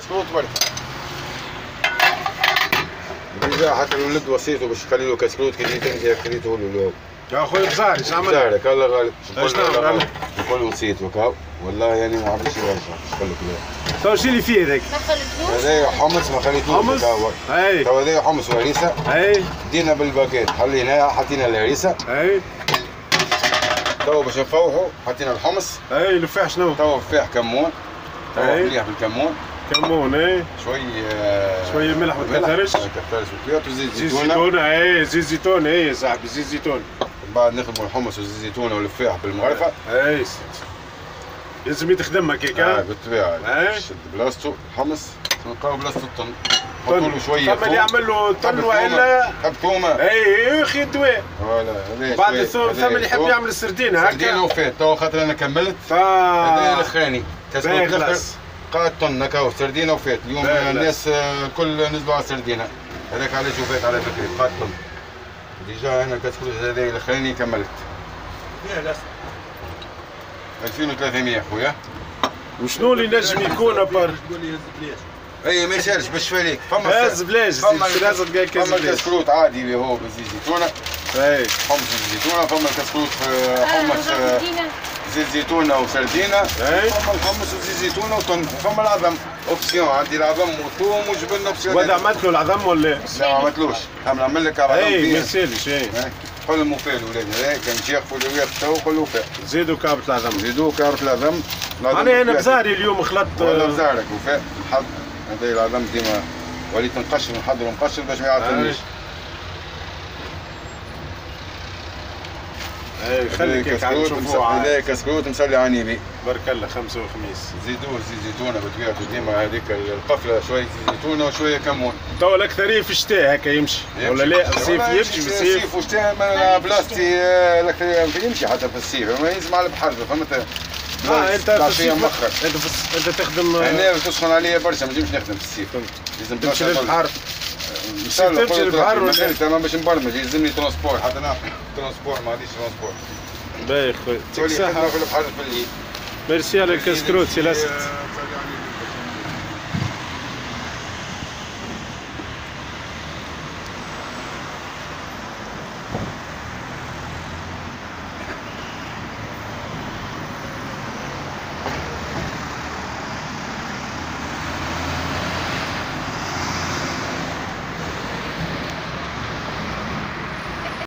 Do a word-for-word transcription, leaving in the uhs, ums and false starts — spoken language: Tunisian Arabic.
كسكروت برك. déjà حتى الولد وصيته باش يخلي له كسكروت كي جيت انت خليته له. يا خويا بزاري اش عمل؟ بزارك الله غالب. اش نعمل؟ نقول له وصيته وكاو والله يعني ما عرفتش يرجع نقول لك لا. تو شنو اللي فيه هذاك؟ ما خليتلوش؟ هذايا حمص ما خليتلوش. حمص؟ اي تو هذايا حمص وهريسه. اي بدينا بالباكيت حليناها حطينا الهريسه. اي تو باش نفوحوا حطينا الحمص. اي الفاح شنو؟ تو فاح كمون. تو مليح بالكمون. كمون اي شوي شوي ملح ما تكثرش. ما تكثرش وزيت زيتون. زيتون اي زيت زيتون اي صاحبي زيت زيتون. بعد نخدموا الحمص وزيت زيتون والفاح بالمغرفه. اي سيدي لازم يتخدم هكاك. اه بالطبيعة شد بلاصتو الحمص نلقاو بلاصتو الطن. نحطوا له شوية ثم اللي يعمل له طن والا تحب ثومه. اي اخي الدواء voilà. بعد الثوم ثم اللي يحب يعمل السردين هكا. سردين وفات تو خاطر انا كملت. هذا الاخراني كسكروت الاخر قاعد طن هكا سردينه وفات. اليوم الناس الكل نزلوا على السردينه هذاك علاش وفات على فكرة قاعد طن. déjà انا كسكروت هذا الاخراني كملت. ألفين وثلاثمية خويا. وشنو اللي نجم يكون à part؟ اي ما يسالش باش فاليك فما هز بلاش فما الكسكروت عادي اللي هو بزيت زيتونه. اي حمص الزيتونه. فما الكسكروت حمص زيت زيتونه وسردينه. فما الحمص وزيت زيتونه وطن. فما العظم option عندي العظم وثوم وجبن option. وهذا عملت له العظم ولا؟ لا ما عملتلوش. نعمل لك العظم. اي ما يسالش. اي قول المفيد ولاد هذا كان ياخذوا اللي ياخذ تو قول له زيدوا كعبة العظم. زيدوا كعبة العظم. معناها انا بزاري اليوم خلطت. والله بزارك وفاء الحظ هذا العظم ديما وليت نقشر نحضر نقشر باش ما يعطلنيش. اي خليك نشوفوه. هذا كسكروت مسلي على النبي. بارك الله. خمسة وخميس. زيدوه زيت زيتونه بطبيعته ديما هذيك القفله شوية زيت زيتونه وشوية كمون. تو الاكثرية في الشتاء هكا يمشي ولا لا؟ الصيف يمشي في الصيف. الصيف والشتاء بلاصتي الاكثرية يمشي حتى في الصيف ما يلزم على البحر فهمت؟ اه انت في الصيف انت في انت تخدم هنا تسخن عليا برشا ما نجمش نخدم في الصيف. لازم تمشي للبحر. تمشي للبحر ولا تمام باش نبرمج يلزمني transport حتى انا transport ما عنديش transport. باهي خويا يعطيك الصحة. في البحر في الليل. ميرسي على الكسكروت سي لاسد.